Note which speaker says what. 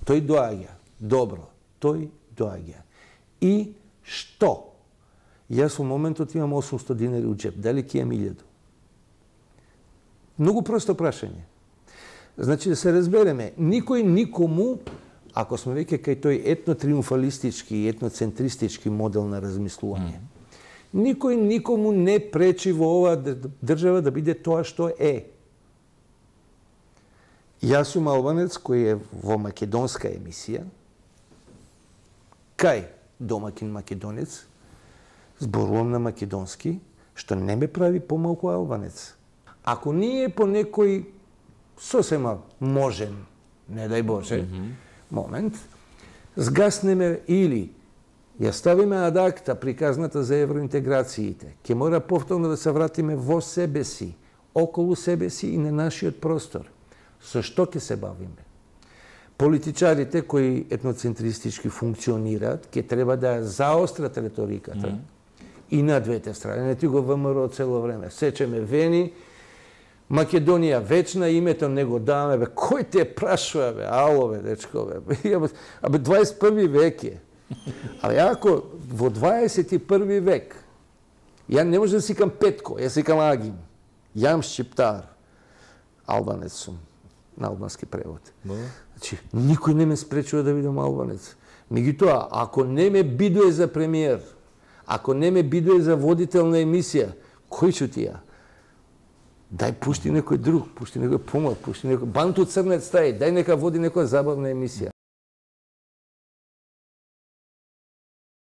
Speaker 1: тој доаѓа. Добро, тој доаѓа. И што? Јас во моментот имам 800 динари у джеп, дали ќе имам 1000? Многу просто прашање. Значи, да се разбереме, никој никому, ако сме веќе кај тој етнотриумфалистички и етноцентристички модел на размислување, никој никому не пречи во оваа држава да биде тоа што е. Јас сум албанец кој е во македонска емисија, кај домакин македонец, зборувам на македонски, што не ме прави помалку албанец. Ако ние по некој сосема можен, не дај Боже, момент, згаснеме или ја ставиме ад акта приказната за евроинтеграциите, ќе мора повторно да се вратиме во себе си, околу себе си и на нашиот простор. Со што ќе се бавиме? Политичарите кои етноцентристички функционираат, ќе треба да ја заострат реториката и на двете страни. Не ти го ВМРО цело време. Сечеме Вени, Македонија вечна, името не го даваме, бе, кој те прашува, бе, ало, бе, дечко, бе, 21 век е. А ако во 21 век, ја не може да сикам Петко, ја сикам Агим, јам шчиптар, албанец сум, на албански превод. Значи, никој не ме спречува да бидам албанец. Меѓутоа, ако не ме бидуе за премиер, ако не ме бидуе за водител на емисија, кој ќе ти ја? Дај пушти некој друг, пушти некој помлад, пушти некој Банту Црнец тај, дај нека води некоја забавна емисија.